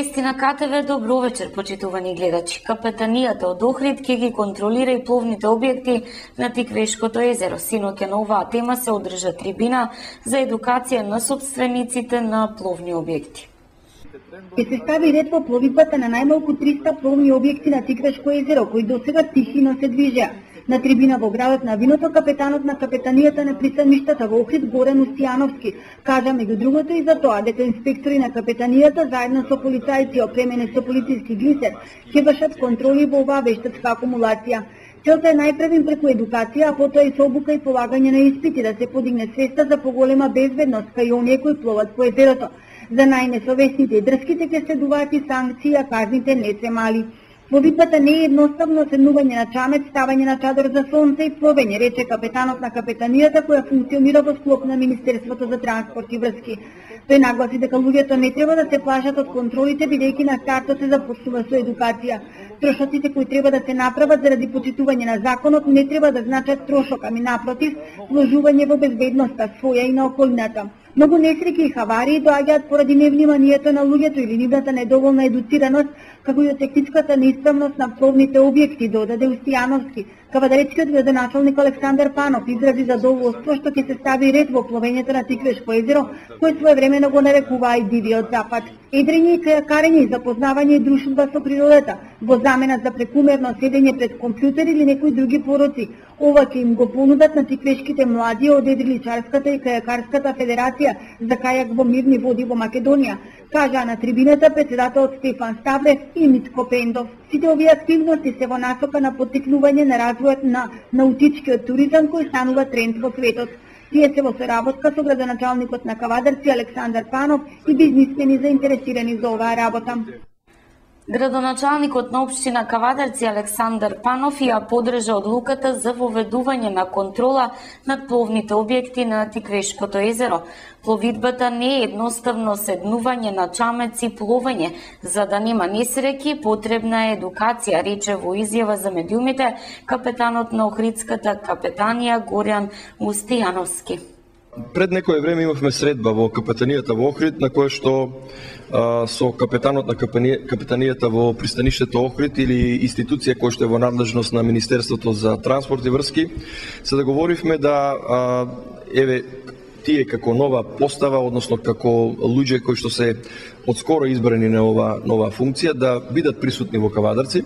Вести на КТВ, добро вечер, почитувани гледачи. Капетанијата од Охрид ќе ги контролира и пловните објекти на Тиквешкото езеро. Синоќа на оваа тема се одржа трибина за едукација на сопствениците на пловни објекти. Ќе се стави ред во пловидбата на најмалку 300 пловни објекти на Тиквешко езеро, кои досега тихино се движеа. На трибина во градот на виното, капетанот на капетанијата на пристаништата во Охрид Горан Устијановски кажа меѓу другото и за тоа дека инспектори на капетанијата заедно со полицајци опремени со полициски глисер ќе вршат контроли во оваа вештачка акумулација. Целта е најпрвим преку едукација, а потоа и со обука и полагање на испити да се подигне свеста за поголема безбедност кај оние кои пловат по езерото. За најнесовесните и дрските ќе следуваат и санкции, а казните не се мали. Пловидбата не е едноставно седнување на чамец, ставање на чадор за сонце и пловење, рече капетанот на капетанијата која функционира во склоп на Министерството за транспорт и врски. Тој нагласи дека луѓето не треба да се плашат од контролите, бидејќи на стартот се започнува со едукација. Трошоците кои треба да се направат заради почитување на законот не треба да значат трошок, ами напротив, вложување во безбедноста своја и на околината. Многу несреќи и хаварии доаѓаат поради невниманието на луѓето или нивната недоволна едуцираност, како и од техничката неисправност на пловните објекти, додаде Устијановски. Кавадарецкиот градоначалник Александар Панов изрази задоволство што ќе се стави ред во пловењето на Тиквешко езеро, кој своевремено го нарекуваа и дивиот запад. Едрење и кајакарење и запознавање и дружба со природата, во замена за прекумерно седење пред компјутер или некои други пороци. Ова ќе им го понудат на тиквешките млади од Едриличарската и Кајакарската федерација за кајак во мирни води во Македонија, кажа на трибината председателот Стефан Ставрев и Митко Пендов. Сите овие активности се во насока на поттикнување на развојот на наутичкиот туризам кој станува тренд во светот. Тие се во соработка со градоначалникот на Кавадарци Александар Панов и бизнисмени заинтересирани за оваа работа. Градоначалникот на општина Кавадарци Александар Панов ја поддржа одлуката за воведување на контрола над пловните објекти на Тиквешкото езеро. Пловидбата не е едноставно седнување на чамец и пловење. За да нема несреќи, потребна е едукација, рече во изјава за медиумите капетанот на Охридската капетанија Горан Устијановски. Пред некое време имавме средба во капетанијата во Охрид, на која што со капетанот на капетанијата во пристаништето Охрид или институција која што е во надлежност на Министерството за транспорт и врски, се договоривме да еве тие како нова постава, односно како луѓе кои што се одскоро избрани на нова функција, да бидат присутни во Кавадарци,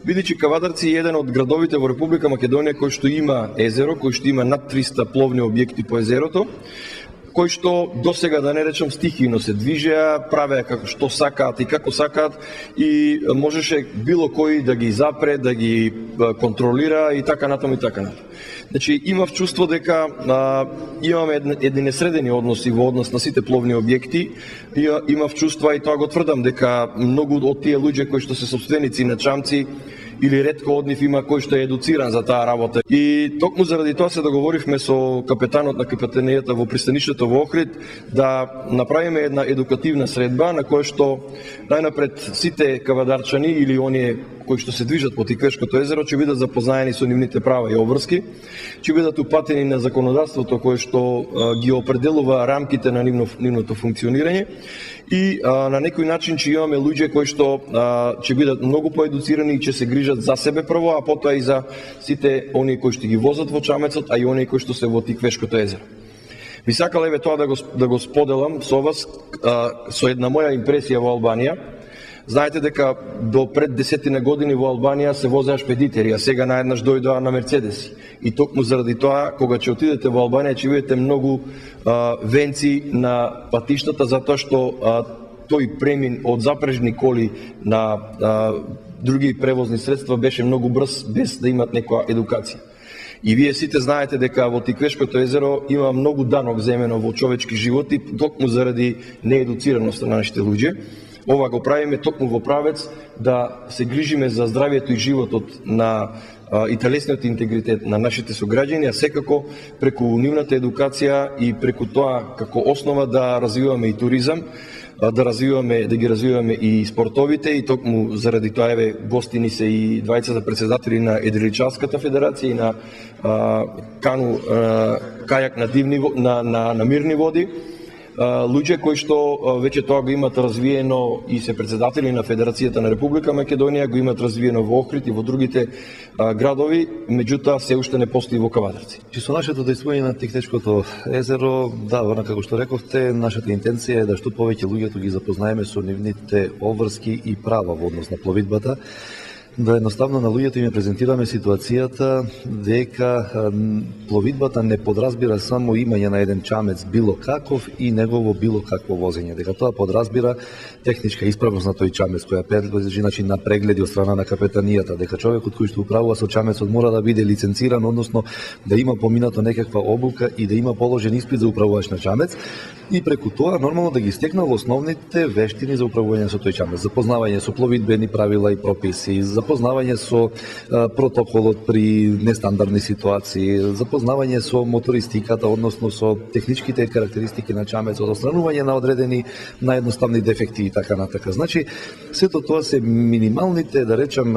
бидејќи Кавадарци е еден од градовите во Република Македонија кој што има езеро, кој што има над 300 пловни објекти по езерото, кои што досега, да не речам, стихино се движеа, правеа како што сакаат и како сакаат и можеше било кој да ги запре, да ги контролира и така натаму и така натаму. Значи, имав чувство дека имаме едни несредени односи во однос на сите пловни објекти. Имав чувство и тоа го тврдам дека многу од тие луѓе кои што се собственици на чамци или ретко од нив има кој што е едуциран за таа работа. И токму заради тоа се договоривме со капетанот на капетанијата во пристаништето во Охрид да направиме една едукативна средба на која што најнапред сите кавадарчани или оние кои што се движат по Тиквешкото езеро ќе бидат запознаени со нивните права и обврски, ќе бидат упатени на законодавството кое што ги определува рамките на нивното функционирање и на некој начин ќе имаме луѓе кои што ќе бидат многу поедуцирани и ќе се грижат за себе прво, а потоа и за сите оние кои што ги возат во чамецот, а и оние кои што се во Тиквешкото езеро. Би сакал еве тоа да го споделам со вас со една моја импресија во Албанија. Знаете дека до пред 10 години во Албанија се возеа шпедитери, а сега наеднаш дојдоа на мерцедеси. И токму заради тоа, кога ќе отидете во Албанија, ќе видите многу венци на патиштата, затоа што тој премин од запрежни коли на други превозни средства беше многу брз, без да имат некоја едукација. И вие сите знаете дека во Тиквешкото езеро има многу данок земено во човечки животи, токму заради неедуцираност на нашите луѓе. Ова го правиме токму во правец да се грижиме за здравието и животот на и телесниот интегритет на нашите сограѓани, а секако преку нивната едукација и преку тоа како основа да развиваме и туризам, да ги развиваме и спортовите, и токму заради тоа еве гостини се и двајцата претседатели на Едриличарската федерација и на кајак на мирни води. луѓе кои што веќе тоа го имат развиено и се председатели на Федерацијата на Република Македонија, го имат развиено во Охрид и во другите градови, меѓутоа се уште не постои во Кавадарци. Со нашето дејствување на Тихтечкото езеро, да, како што рековте, нашата интенција е да што повеќе луѓето ги запознаеме со нивните обврски и права во однос на пловидбата, да едноставно на луѓето им презентираме ситуацијата дека пловидбата не подразбира само имање на еден чамец било каков и негово било какво возење, дека тоа подразбира техничка исправност на тој чамец која подлежи на прегледи од страна на капетанијата, дека човекот кој што управува со чамецот мора да биде лиценциран, односно да има поминато некаква обука и да има положен испит за управувач на чамец и преку тоа нормално да ги стекнал основните вештини за управување со тој чамец, запознавање со пловидбени правила и прописи, запознавање со протоколот при нестандардни ситуации, запознавање со мотористиката, односно со техничките карактеристики на чамецот, отстранување на одредени наједноставни дефекти и така натака. Значи, сето тоа се минималните, да речам,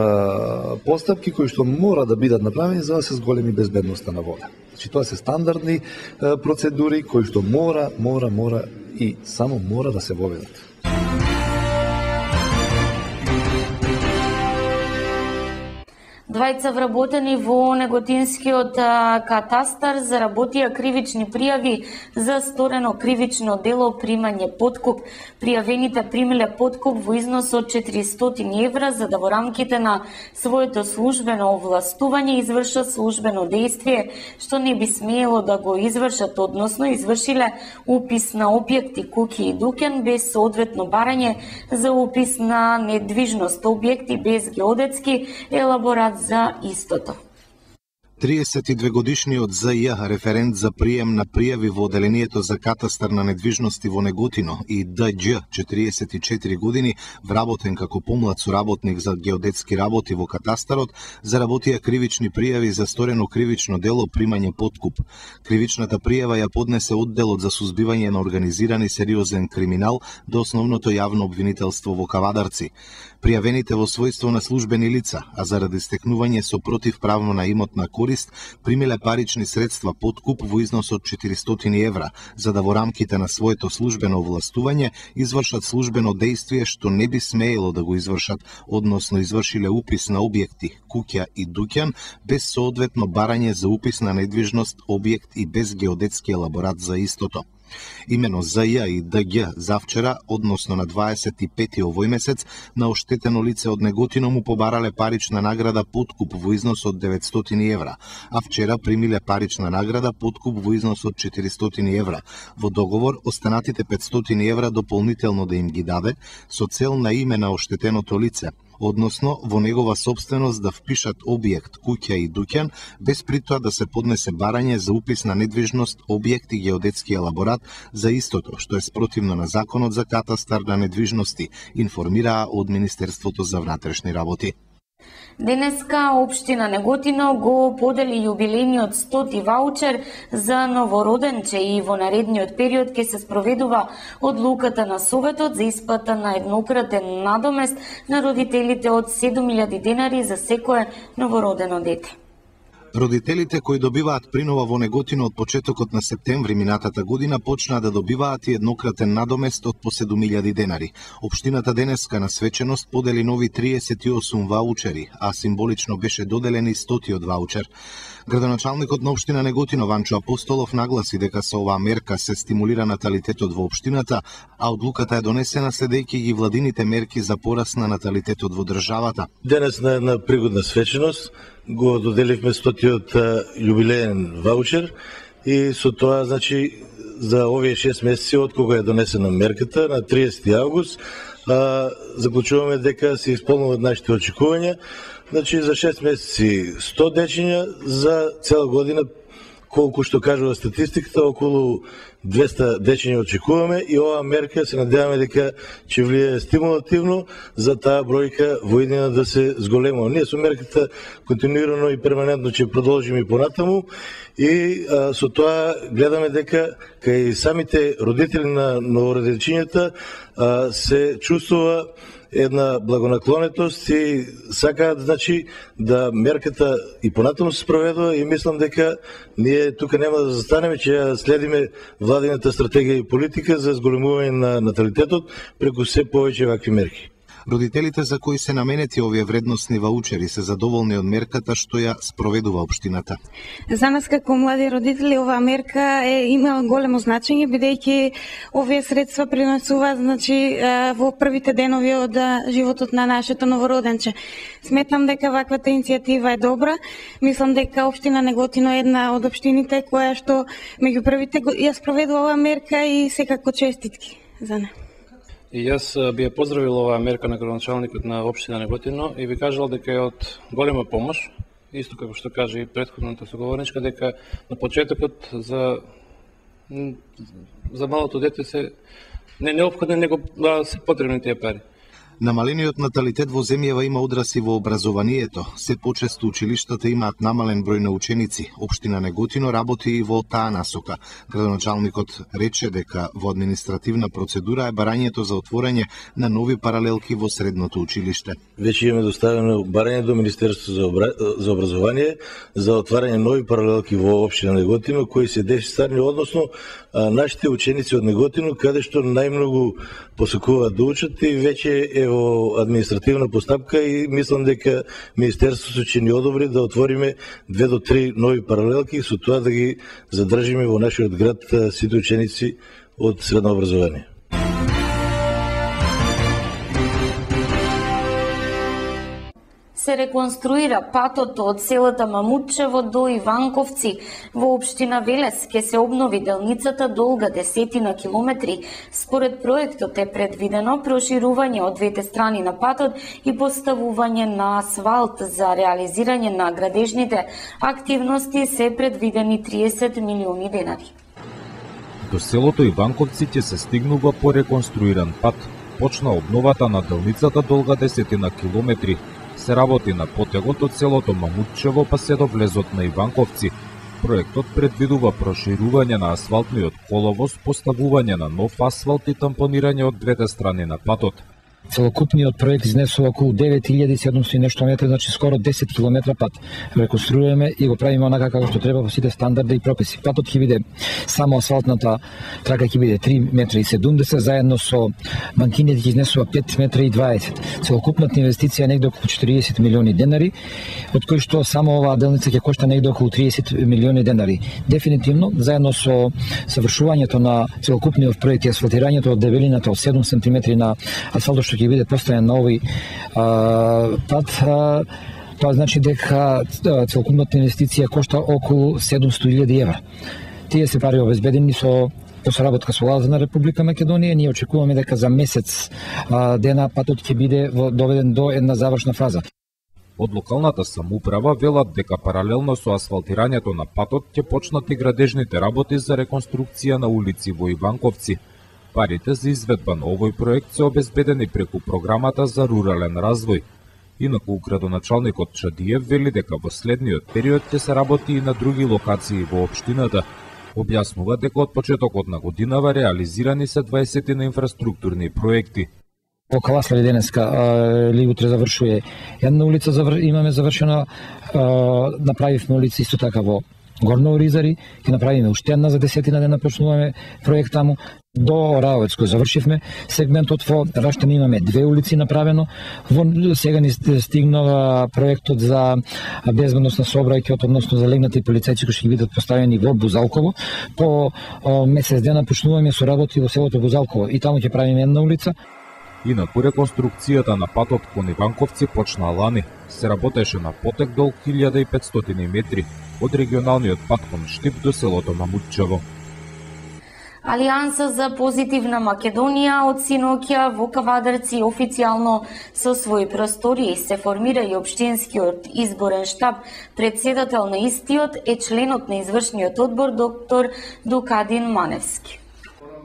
постапки кои што мора да бидат направени за да се зголеми безбедноста на вода. Значи, тоа се стандардни процедури кои што мора и само мора да се воведат. Двајца вработени во Неготинскиот катастар заработија кривични пријави за сторено кривично дело примање подкуп. Пријавените примиле подкуп во износ од 400 евра за да во рамките на своето службено овластување извршат службено дејствие што не би смеело да го извршат, односно извршиле упис на објекти, куќи и дуќан без соодветно барање за упис на недвижност, објекти без геодетски елаборат за истото. 32-годишниот ЗЈ, референт за прием на пријави во Оделението за катастар на недвижности во Неготино, и Дђ, 44 години, вработен како помлад соработник за геодетски работи во катастарот, заработија кривични пријави за сторено кривично дело примање подкуп. Кривичната пријава ја поднесе одделот за сузбивање на организиран и сериозен криминал до основното јавно обвинителство во Кавадарци. Пријавените во својство на службени лица, а заради стекнување со противправно на имотна корист, примиле парични средства подкуп во износ од 400 евра, за да во рамките на своето службено овластување извршат службено дејствие што не би смеело да го извршат, односно извршиле упис на објекти, куќа и дуќан, без соодветно барање за упис на недвижност, објект и без геодетски елаборат за истото. Имено ЗЈ и ДԳ завчера, односно на 25 овој месец, на оштетено лице од Неготино му побарале парична награда подкуп во износ од 900 евра, а вчера примиле парична награда подкуп во износ од 400 евра. Во договор, останатите 500 евра дополнително да им ги даде, со цел на име на оштетеното лице, односно во негова собственост да впишат објект, куќа и дуќан, без при тоа да се поднесе барање за упис на недвижност, објект и геодетски елаборат за истото, што е спротивно на Законот за катастар на недвижности, информираа од Министерството за внатрешни работи. Денеска општина Неготино го подели јубилејниот 100-ти ваучер за новороденче и во наредниот период ќе се спроведува одлуката на Советот за исплата на еднократен надомест на родителите од 7.000 денари за секое новородено дете. Родителите кои добиваат принова во Неготино од почетокот на септември минатата година почнаа да добиваат и еднократен надомест од по 7.000 денари. Општината денеска на свеченост подели нови 38 ваучери, а символично беше доделен и 100-тиот ваучер. Градоначалникот на општина Неготино Ванчо Апостолов нагласи дека со оваа мерка се стимулира наталитетот во општината, а одлуката е донесена следејќи ги владините мерки за пораст на наталитетот во државата. Денес на една пригодна свеченост го доделивме 100-тиот јубилеен ваучер и со тоа, значи, за овие 6 месеци од кога е донесена мерката на 30 август, заклучуваме дека се исполнуваат нашите очекувања. Значи, за 6 месеци 100 дечиња, за цела година, колку што кажува статистиката, околу 200 дечиња очекуваме и оваа мерка се надеваме дека ќе влие стимулативно за таа бројка во иднина да се зголемува. Ние со мерката континуирано и перманентно ќе продолжиме и понатаму и со тоа гледаме дека кај самите родители на новороденчињата се чувствува една благонаклонетост и сакаат значи да мерката и понатаму се спроведува и мислам дека ние тука нема да застанеме, че ја следиме владината стратегија и политика за зголемување на наталитетот преку се повеќе вакви мерки. Родителите за кои се наменети овие вредносни ваучери се задоволни од мерката што ја спроведува општината. За нас како млади родители оваа мерка има големо значење бидејќи овие средства принесуваат значи во првите денови од животот на нашето новороденче. Сметам дека ваквата иницијатива е добра. Мислам дека општина Неготино е една од општините која што меѓу првите ја спроведува оваа мерка и секако честитки за неа. И јас би ја поздравил оваа мерка на градоначалникот на општина Неготино и би кажал дека е од голема помош, исто како што кажа и претходната соговорничка, дека на почетокот за малото дете се не неопходни, него се потребни тие пари. Намалениот наталитет во земјава има одрази во образованието. Се почесто училиштата имаат намален број на ученици. Општина Неготино работи и во таа насока. Градоначалникот рече дека во административна процедура е барањето за отворање на нови паралелки во средното училиште. Веќе имаме доставено барање до Министерството за образование за отварање нови паралелки во општина Неготино кои се дефицитарни, односно нашите ученици од Неготино каде што најмногу посакуваат да учат и веќе е во административна постапка и мислам дека Министерството ќе ни одобри да отвориме 2 до 3 нови паралелки и со тоа да ги задржиме во нашиот град сите ученици од средно образование. Се реконструира патот од селото Мамутчево до Иванковци во општина Велес. Ке се обнови делницата долга 10 километри. Според проектот е предвидено проширување од двете страни на патот и поставување на асфалт. За реализирање на градежните активности се предвидени 30 милиони денари. До селото Иванковци ќе се стигнува по реконструиран пат. Почна обновата на делницата долга 10 километри. Се работи на потегот од селото Мамутчево па се до влезот на Иванковци. Проектот предвидува проширување на асфалтниот коловоз, поставување на нов асфалт и тампонирање од двете страни на патот. Целокупниот проект изнесува околу 9700 и нешто метри, значи скоро 10 километра пат. Реконструираме и го правиме онака како што треба во сите стандарди и прописи. Патот ќе биде само асфалтната трака ќе биде 3 метри и 70, заедно со банкините ќе изнесува 5 метри и 20. Целокупната инвестиција е негде околу 40 милиони денари, од кои што само оваа делница ќе кошта негде околу 30 милиони денари. Дефинитивно, заедно со совршувањето на целокупниот проект и асфалтирањето од дебелината од 7 см на асфалтот што ќе биде поставен на овој пат, тоа значи дека целокупната инвестиција кошта околу 700.000 евра. Тие се пари обезбедени со соработка со владата на Република Македонија. Ние очекуваме дека за месец дена патот ќе биде доведен до една завршна фаза. Од локалната самоуправа велат дека паралелно со асфалтирањето на патот ќе почнат и градежните работи за реконструкција на улици во Иванковци. Парите за изведба на овој проект се обезбедени преку програмата за рурален развој. Инаку градоначалникот Чадиев вели дека во следниот период ќе се работи и на други локации во општината. Објаснува дека од почетокот на годинава реализирани се 20 на инфраструктурни проекти. Во Каласлави денеска или утре завршува една улица, имаме завршена, направивме улица исто така во Горно Оризари, ќе направиме уште една за 10 дена, почнуваме проект таму. До Раовец кој завршивме сегментот, во Раштан имаме 2 улици направено. Сега ни стигнува проектот за безбедност на сообраќајот, односно за легнати полицајци кои ќе бидат поставени во Бузалково. По месец дена почнуваме со работи во селото Бузалково и таму ќе правиме една улица. Инаку реконструкцијата на патот кон Иванковци почна лани. Се работеше на потек долг 1500 метри од регионалниот пат кон Штип до селото Мамутчево. Алијанса за позитивна Македонија од синоќа во Кавадарци официјално со своји простории се формира и општинскиот изборен штаб. Председател на истиот е членот на извршниот одбор доктор Дукадин Маневски.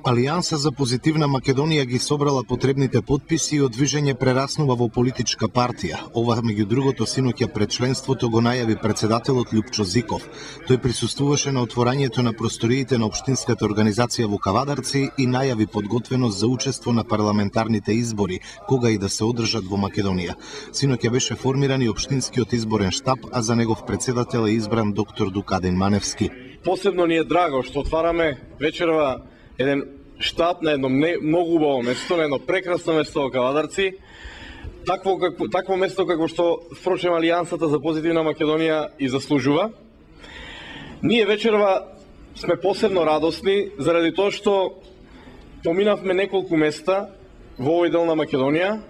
Алијанса за позитивна Македонија ги собрала потребните потписи и од движење прераснува во политичка партија. Ова меѓу другото синоќа пред членството го најави председателот Љупчо Зиков. Тој присуствуваше на отворањето на просториите на општинската организација во Кавадарци и најави подготвеност за учество на парламентарните избори, кога и да се одржат во Македонија. Синоќа беше формиран и општинскиот изборен штаб, а за негов председател е избран доктор Дукадин Маневски. Посебно ни е драго што отвараме вечерва еден штаб на едно многу убаво место, на едно прекрасно место во Кавадарци, такво место како што впрочем Алијансата за позитивна Македонија и заслужува. Ние вечерва сме посебно радосни заради тоа што поминавме неколку места во овој дел на Македонија.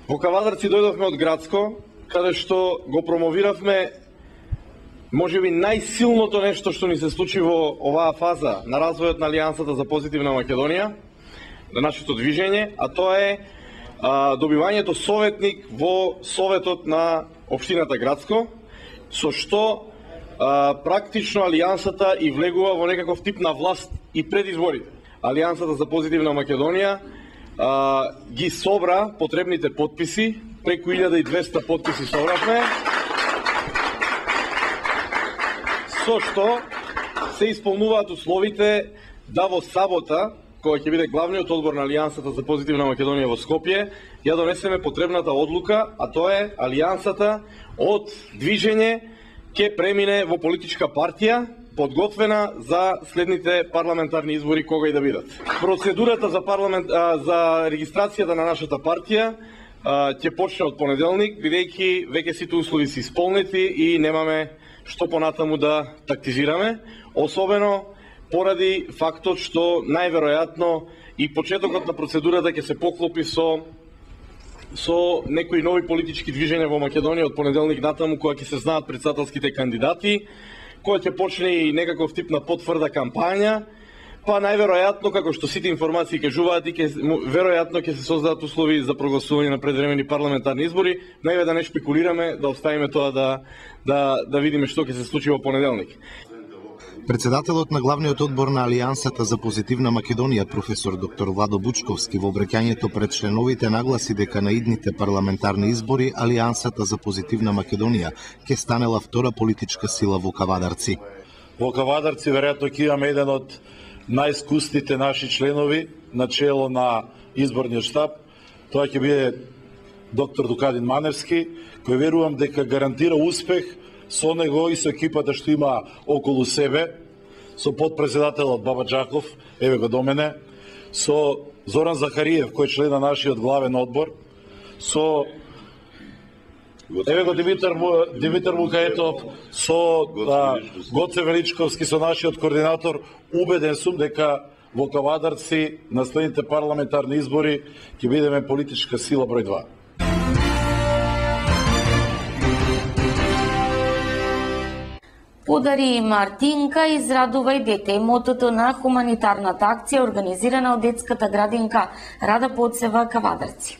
Во Кавадарци дојдовме од Градско, каде што го промовиравме можеби најсилното нешто што ни се случи во оваа фаза на развојот на Алијансата за позитивна Македонија, на нашето движење, а тоа е добивањето советник во Советот на општината Градско, со што практично Алијансата и влегува во некаков тип на власт и пред изборите. Алијансата за позитивна Македонија ги собра потребните потписи, преку 1200 потписи собравме, со што се исполнуваат условите да во сабота, која ќе биде главниот одбор на Алијансата за позитивна Македонија во Скопје, ја донесеме потребната одлука, а тоа е Алијансата од движење ќе премине во политичка партија, подготвена за следните парламентарни избори кога и да бидат. Процедурата за регистрацијата на нашата партија ќе почне од понеделник, бидејќи веќе сите услови се исполнети и немаме што понатаму да тактизираме, особено поради фактот што најверојатно и почетокот на процедурата ќе се поклопи со некои нови политички движења во Македонија од понеделник натаму, кога ќе се знаат претседателските кандидати, која ќе почне и некаков тип на потврда кампања, па најверојатно, како што сите информации кажуваат, и веројатно ќе се создадат услови за прогласување на предвремени парламентарни избори. Најве да не шпекулираме, да оставиме тоа да видиме што ќе се случи во понеделник. Председателот на главниот одбор на Алијансата за позитивна Македонија, професор доктор Владо Бучковски, во обраќањето пред членовите нагласи дека на идните парламентарни избори Алијансата за позитивна Македонија ќе станела втора политичка сила во Кавадарци. Во Кавадарци веројатно ќе имаме еден од најискусните наши членови на чело на изборниот штаб. Тоа ќе биде доктор Дукадин Маневски, кој верувам дека гарантира успех со него и со екипата што има околу себе, со подпредседателот Баба Джаков, еве го до мене, со Зоран Захариев, кој е член на нашиот главен одбор, со еве го Димитар Мукаетов, со Гоце Величковски, со нашиот координатор. Убеден сум дека во Кавадарци на следните парламентарни избори ќе бидеме политичка сила број 2. Подари Мартинка, израдувај дете. Мотото на хуманитарната акција организирана од детската градинка Рада Поцева, Кавадарци.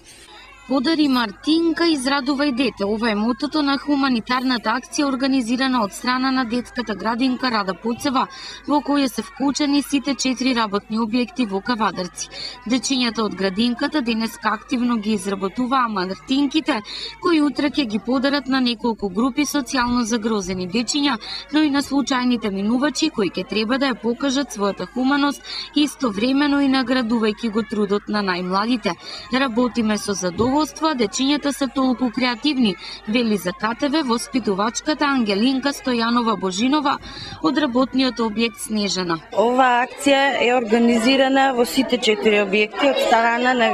Подари Мартинка, израдувај дете. Ова е мотото на хуманитарната акција организирана од страна на детската градинка Рада Поцева, во која се вклучени сите 4 работни објекти во Кавадарци. Дечињата од градинката денеска активно ги изработуваа мартинките, кои утре ќе ги подарат на неколку групи социјално загрозени дечиња, но и на случајните минувачи кои ќе треба да ја покажат својата хуманост, истовремено и наградувајќи го трудот на најмладите. Работиме со задоволство, дечињата се толку креативни, вели за КТВ воспитувачката Ангелинка Стојанова Божинова од работниот објект Снежана. Ова акција е организирана во сите 4 објекти од страна на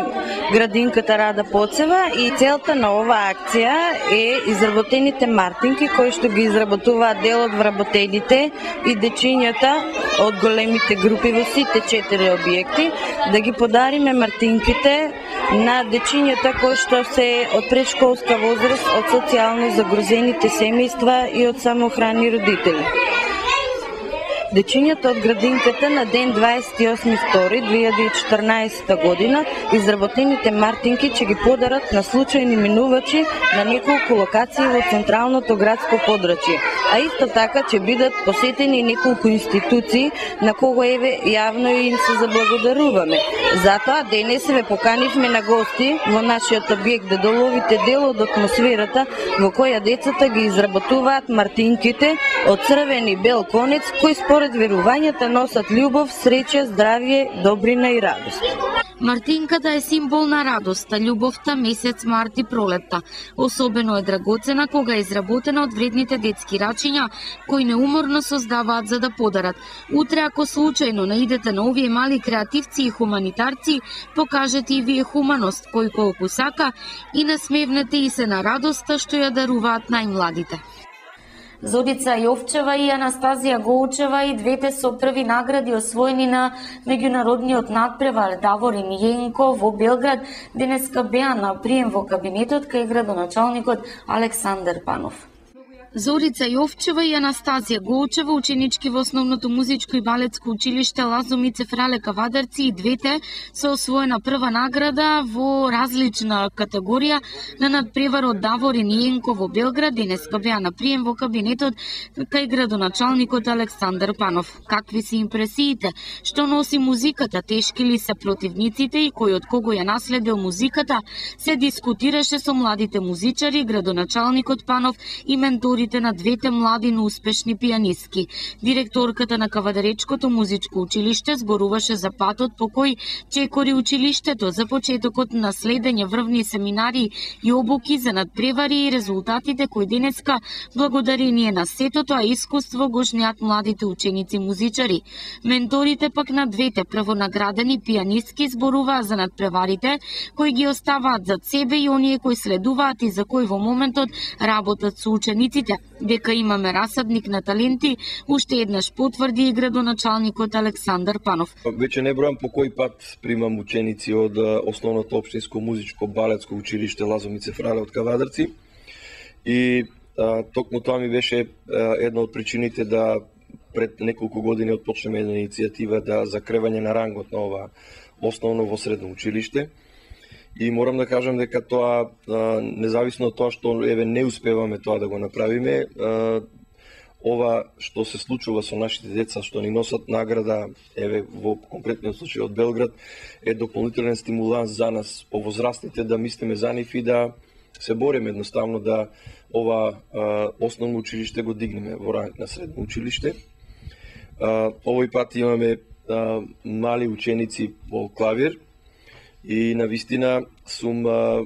градинката Рада Поцева и целта на оваа акција е изработените мартинки кои што ги изработуваат дел од вработените и дечињата од големите групи во сите 4 објекти, да ги подариме мартинките на дечињата кои што се од предшколска возраст, од социјално загрозените семејства и од самоохрани родители. Дечињата од градинката на ден 28.2.2014 година изработените мартинки ќе ги подарат на случајни минувачи на неколку локации во централното градско подрачје. а исто така ќе бидат посетени неколку институции на кого еве јавно им се заблагодаруваме. Затоа денес ве поканивме на гости во нашиот објект да доловите дел од атмосферата во која децата ги изработуваат мартинките од црвен и бел конец, кои според верувањата носат љубов, среќа, здравје, добрина и радост. Мартинката е символ на радоста, љубовта, месец март и пролетта. Особено е драгоцена кога е изработена од вредните детски рачиња, кои неуморно создаваат за да подарат. Утре, ако случајно наидете на овие мали креативци и хуманитарци, покажете и вие хуманост, кој колку сака, и насмевнете и се на радоста што ја даруваат најмладите. Зорица Јовчева и Анастазија Голчева и двете со први награди освоени на меѓународниот надпревар Даворин Јенко во Белград денеска беа на прием во кабинетот кај градоначалникот Александар Панов. Зорица Јовчева и Анастазија Голчева, ученички во основното музичко и балетско училиште Лазумице Фрале Кавадарци, и двете со освоена прва награда во различна категорија на надпреварот Даворин Јенко во Белград денеска беа на прием во кабинетот кај градоначалникот Александар Панов. Какви се импресиите? Што носи музиката? Тешки ли се противниците и кој од кого ја наследил музиката? Се дискутираше со младите музичари, градоначалникот Панов и менторите на двете млади, но успешни пианистки. Директорката на Кавадаречкото музичко училиште зборуваше за патот по кој чекори училиштето за почетокот на следење врвни семинари и обуки за надпревари и резултатите кои денеска, благодарение на сето тоа искуство, го жнеат младите ученици музичари. Менторите пак на двете првонаградени пианистки зборуваа за надпреварите кои ги оставаат зад себе и оние кои следуваат и за кои во моментот работат со учениците. Дека имаме расадник на таленти, уште еднаш потврди и градоначалникот Александар Панов. Веќе не бројам по кој пат примам ученици од основното општинско музичко балетско училиште Лазумице Фрале од Кавадарци и токму тоа ми беше една од причините да пред неколку години отпочнеме една иницијатива за кревање на рангот на ова основно во средно училиште. И морам да кажам дека тоа, независно од тоа што не успеваме тоа да го направиме, ова што се случува со нашите деца, што ни носат награда, во конкретниот случај од Белград, е дополнителен стимуланс за нас, повозрастните, да мислиме за нив и да се бориме едноставно да ова основно училиште го дигнеме во ранг на средно училиште. Овој пат имаме мали ученици по клавир, и навистина сум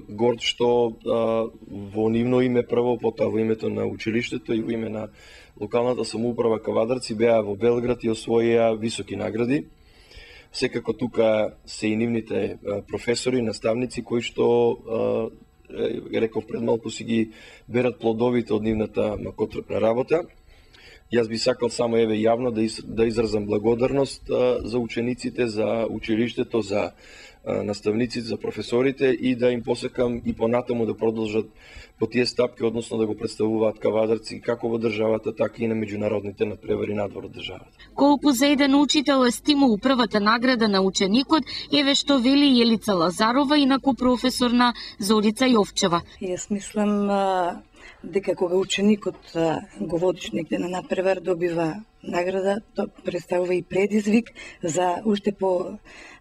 горд што во нивно име прво, потоа во името на училиштето и во име на локалната самоуправа Кавадарци беа во Белград и освоија високи награди. Секако тука се и нивните професори, наставници кои што реков пред малку си ги берат плодовите од нивната макотрпна работа. Јас би сакал само јавно да изразам благодарност за учениците, за училиштето, за наставниците, за професорите и да им посекам и понатаму да продолжат по тие стапки, односно да го представуваат Кавадарци како во државата, така и на меѓународните надпревари надвор од државата. Колку за еден учител е стимул првата награда на ученикот, еве што вели Јелица Лазарова, инаку професор на Зорица Јовчева. Јас мислам дека кога ученикот го водиш негде на надпревар добива награда, тоа представува и предизвик за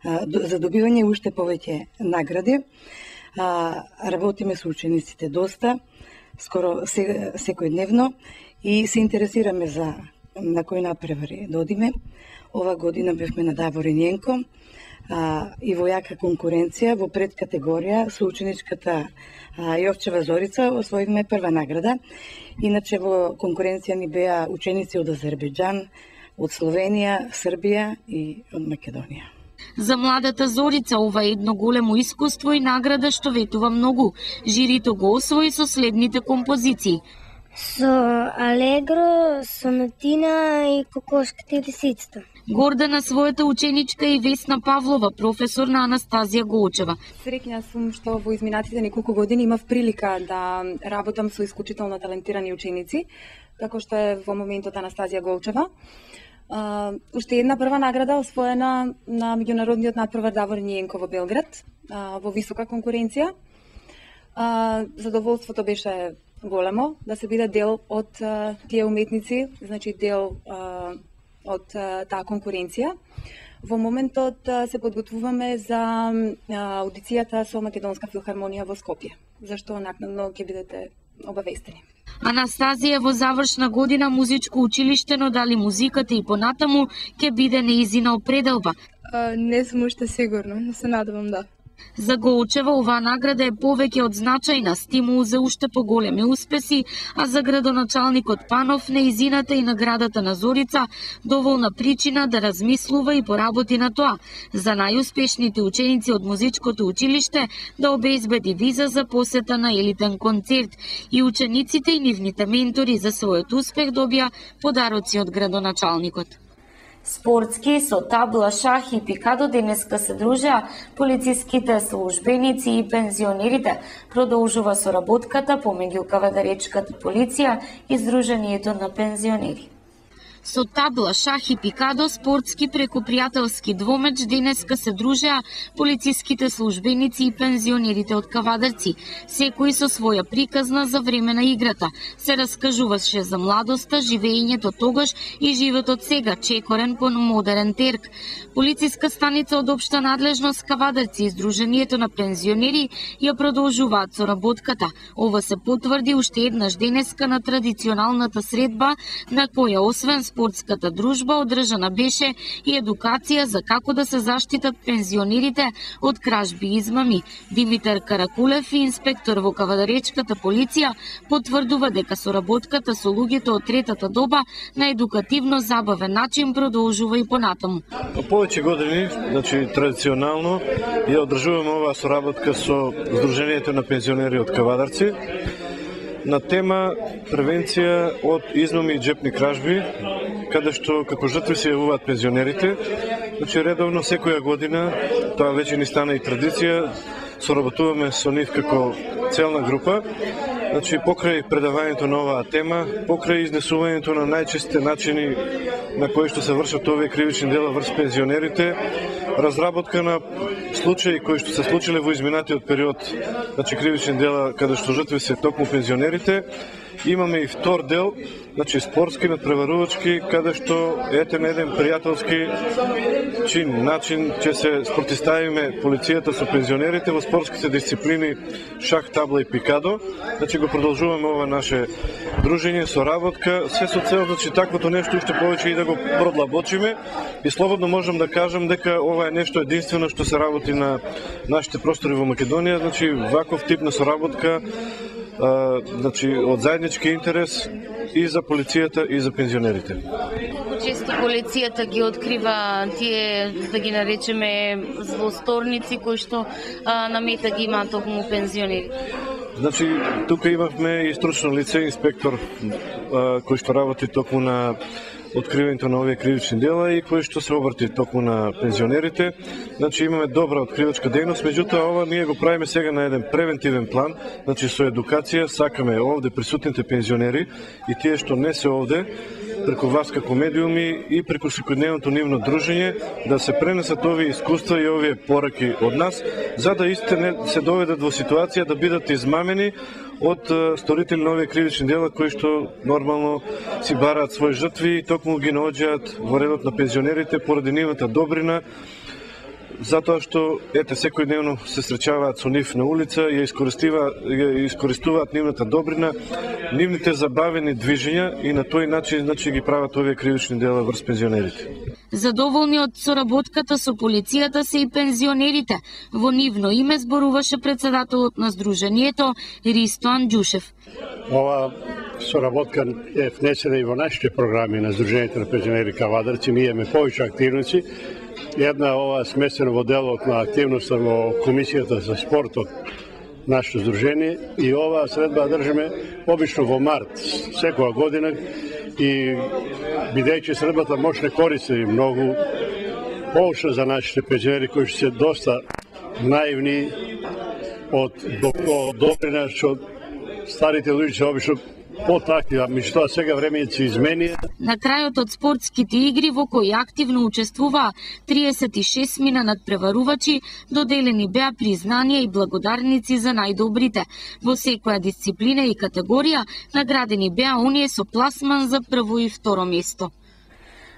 за добивање уште повеќе награди. Работиме со учениците доста, скоро секојдневно и се интересираме за на кои надпревари да одиме. Ова година бевме на Даворин Јенко и во јака конкуренција во предкатегорија со ученичката Јовчева Зорица освоивме прва награда. Иначе во конкуренција ни беа ученици од Азербејџан, од Словенија, Србија и од Македонија. За младата Зорица ова е едно големо искуство и награда што ветува многу. Жирито го освои со следните композиции: со Алегро, Сонатина и Кокошката и лисицата. Горда на својата ученичка и Весна Павлова, професор на Анастазија Голчева. Среќна сум што во изминатите неколку години имав прилика да работам со исклучително талентирани ученици, како што е во моментот Анастазија Голчева. Уште една прва награда освоена на меѓународниот надпревар Даворин Јенко во Белград, во висока конкуренција. Задоволството беше големо да се биде дел од тие уметници, значи дел од таа конкуренција. Во моментот се подготвуваме за аудицијата со Македонска филхармонија во Скопје, зашто накнадно ќе бидете обавестени. Анастазија во завршна година музичко училиште, но дали музиката и понатаму ќе биде неизина определба? Не сум уште сигурна, но се надевам да. За Голчева оваа награда е повеќе од значајна стимул за уште поголеми успеси, а за градоначалникот Панов неизината и наградата на Зорица доволна причина да размислува и поработи на тоа, за најуспешните ученици од музичкото училиште да обезбеди виза за посета на елитен концерт и учениците и нивните ментори за својот успех добија подароци од градоначалникот. Спортски со табла, шах и пикадо денеска се дружеа полициските службеници и пензионерите. Продолжува соработката помеѓу Кавадаречката полиција и Сдруженијето на пензионери. Со табла, шах и пикадо, спортски преку пријателски двомеч денеска се дружеа полициските службеници и пензионерите од Кавадарци, секој со своја приказна за време на играта. Се раскажуваше за младоста, живеењето тогаш и животот сега, чекорен по модерен терк. Полициска станица од општа надлежност Кавадарци и Сдруженијето на пензионери ја продолжуваат соработката. Ова се потврди уште еднаш денеска на традиционалната средба, на која освен спортската дружба одржана беше и едукација за како да се заштитат пензионерите од кражби и измами. Димитар Каракулев, инспектор во Кавадаречката полиција, потврдува дека соработката со луѓето од третата доба на едукативно забавен начин продолжува и понатаму. Повеќе години, значи традиционално, ја одржуваме оваа соработка со Сдруженијето на пензионери од Кавадарци на тема превенција од измами и џепни кражби, каде што како жртви се јавуваат пензионерите. Значи редовно секоја година, тоа веќе ни стана и традиција, соработуваме со нив како целна група. Значи покрај предавањето на оваа тема, покрај изнесувањето на најчестите начини на кои што се вршат овие кривични дела врз пензионерите, разработка на случаи кои што се случиле во изминатиот период, значи кривични дела каде што жртви се токму пензионерите. Имаме и втор дел, значи спортски надпреварувачки, каде што ете на еден пријателски начин ќе се спротиставиме полицијата со пензионерите во спортските дисциплини шах, табла и пикадо. Значи го продолжуваме ова наше дружење, соработка, се со цел значи таквото нешто уште повеќе и да го продлабочиме и слободно можам да кажам дека ова е нешто единствено што се работи на нашите простори во Македонија, значи ваков тип на соработка, значи од заеднички интерес и за полицијата и за пензионерите. Колку често полицијата ги открива тие, да ги наречеме, злосторници кои што на мета ги имаат токму пензионери? Значи, тука имавме и стручно лице, инспектор, кој што работи токму на откривањето на овие кривични дела и кои што се обрати токму на пензионерите. Значи имаме добра откривачка дејност, меѓутоа ова ние го правиме сега на еден превентивен план, значи со едукација сакаме овде присутните пензионери и тие што не се овде, преку вас како медиуми и преку секојдневното нивно дружење да се пренесат овие искуства и овие пораки од нас, за да истите не се доведат во ситуација да бидат измамени од сторители на овие кривични дела кои што нормално си бараат своји жртви и токму ги наоѓаат во редот на пензионерите поради нивната добрина, затоа што ете секојдневно се среќаваат со нив на улица и ја искористуваат нивната добрина, нивните забавени движења и на тој начин значи ги прават овие кривични дела врз пензионерите. Задоволни од соработката со полицијата се и пензионерите. Во нивно име зборуваше председателот на Сдруженијето Ристо Анџушев. Ова соработка е внесена и во нашите програми на Сдруженијето на пензионери Кавадарци. Ние имаме повеќе активности. Една ова смесена во делот на активноста во Комисијата за спортот нашето здружение и ова средба држиме обично во март секоја година и бидејќи средбата може не користи многу поучна за нашите пензионери кои се доста наивни од добрина што старите луѓе се обично потакви, меѓутоа сега времењето се измени. На крајот од спортските игри во кои активно учествуваа 36 мина надпреварувачи, доделени беа признанија и благодарници за најдобрите. Во секоја дисциплина и категорија наградени беа оние со пласман за прво и второ место.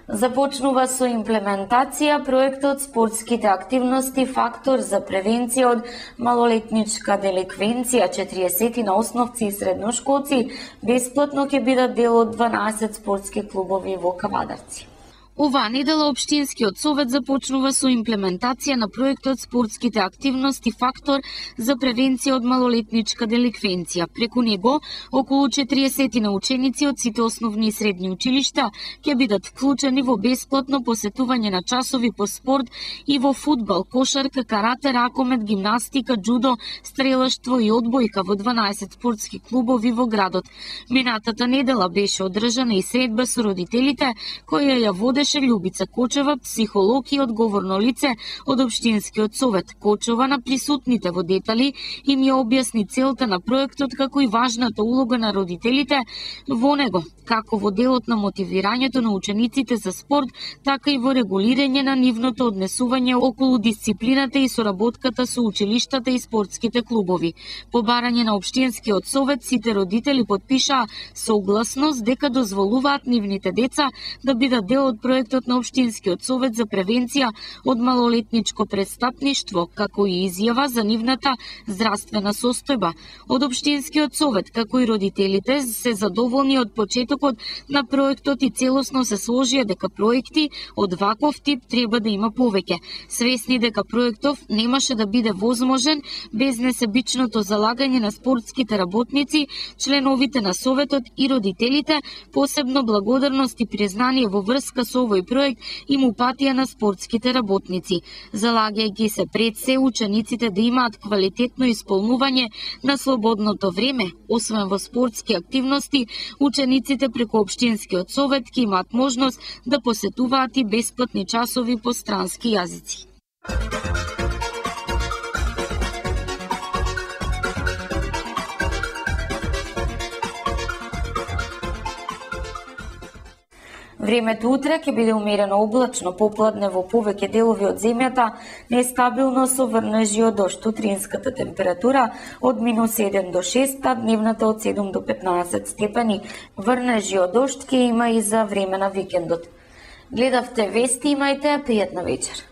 Започнува со имплементација проектот спортските активности фактор за превенција од малолетничка деликвенција. 40 на основци и средношколци бесплатно ќе бидат дел од 12 спортски клубови во Кавадарци. Оваа недела Општинскиот совет започнува со имплементација на проектот спортските активности фактор за превенција од малолетничка деликвенција. Преку него, околу 40 на ученици од сите основни и средни училишта ќе бидат вклучени во бесплатно посетување на часови по спорт и во фудбал, кошарка, карате, ракомет, гимнастика, џудо, стрелаштво и одбојка во 12 спортски клубови во градот. Минатата недела беше одржана и средба со родителите, која ја водеше Љубица Кочева, психолог и одговорно лице од Општинскиот совет. Кочева на присутните во детали им ја објасни целта на проектот, како и важната улога на родителите во него, како во делот на мотивирањето на учениците за спорт, така и во регулирање на нивното однесување околу дисциплината и соработката со училиштата и спортските клубови. По барање на Општинскиот совет, сите родители потпишаа согласност дека дозволуваат нивните деца да бидат дел од проектот на Општинскиот совет за превенција од малолетничко престапништво, како и изјава за нивната здравствена состојба. Од Општинскиот совет, како и родителите, се задоволни од почетокот на проектот и целосно се сложија дека проекти од ваков тип треба да има повеќе. Свесни дека проектов немаше да биде возможен без несебичното залагање на спортските работници, членовите на советот и родителите, посебно благодарност и признание во врска со овој проект им упатија на спортските работници, залагајќи се пред се учениците да имаат квалитетно исполнување на слободното време. Освен во спортски активности, учениците преку Општинскиот совет ќе имаат можност да посетуваат и бесплатни часови по странски јазици. Времето утре ќе биде умерено облачно, попладне во повеќе делови од земјата, нестабилно со врнежи од дожд. Утринската температура од -1 до 6, а дневната од 7 до 15 степени. Врнежи од дожд ќе има и за време на викендот. Гледавте вести, имајте пријатна вечер.